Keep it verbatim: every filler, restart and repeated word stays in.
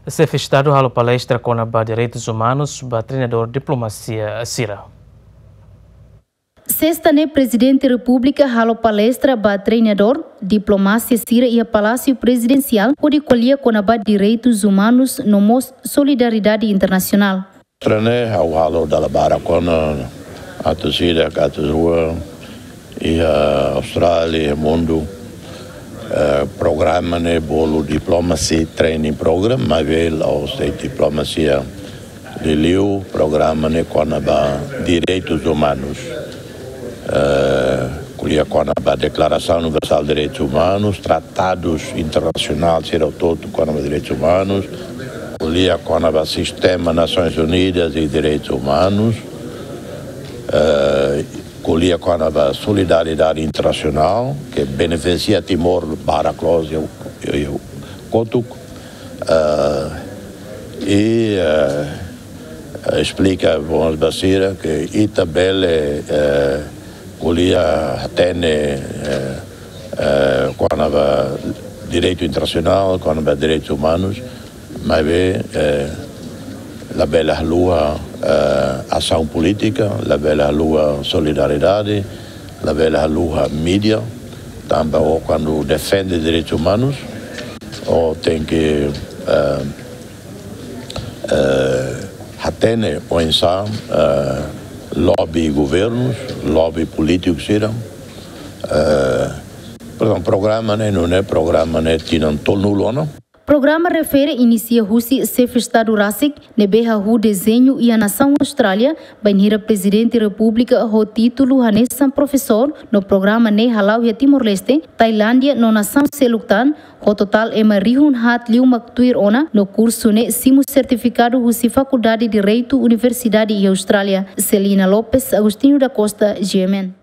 Xefe Estadu halo palestra kona-ba direitus umanus ba treinadór diplomasia sira. Sesta ne'e Prezidente Repúblika halo palestra ba treinadór diplomasia sira iha Palásiu Prezidensiál hodi ko'alia kona-ba direitus umanus no mós solidariedade internasionál. Treine ha'u halo dala barak ona, atu sida, atu rua, iha Austrália, iha mundu. Eh, programa ne'e bolu diplomacy training program, maibé la'ós de'it diplomasia liuliu, programa ne'e kona-ba direitus umanus. Eh, ko'alia kona-ba Deklarasaun Universál de Direitus Umanus, tratadus internasionál sira hotu kona-ba direitus umanus, ko'alia kona-ba sistema Nasoins Unidas i direitus umanus, eh, ko'alia kona-ba solidariedade internasionál, ke benefisia Timor barak loos iha, iha, iha kotuk, eh, i, eh, esplika ba sira ke ita bele, eh, ko'alia hatene, eh, eh, kona-ba direitu internasionál, kona-ba direitus umanus, maibé, eh, labele haluha, eh, asaun polítika, labele haluha solidariedade, labele haluha mídia, tanba ó kuandu defende direitus umanus, ó tenke, eh, eh, hatene oinsá, eh, lobby governus, lobby polítiku sira. Eh, portantu, programa ne'e, nune'e programa ne'e tinan tolunulu ona. Programa refere inisia husi Xefe Estadu rasik, ne'ebé hahú dezeñu iha nasaun Austrália, bainhira Prezidente Repúblika ho títulu hanesan profesór, no programa ne'e hala'o iha Timor-Leste, Tailándia no nasaun seluk tan, ho totál ema rihun haat liu mak tuir ona, no kursu ne'e simu sertifikadu husi Fakuldade Direitu Universidade iha Austrália. Celina Lopes, Agostinho da Costa, G M N.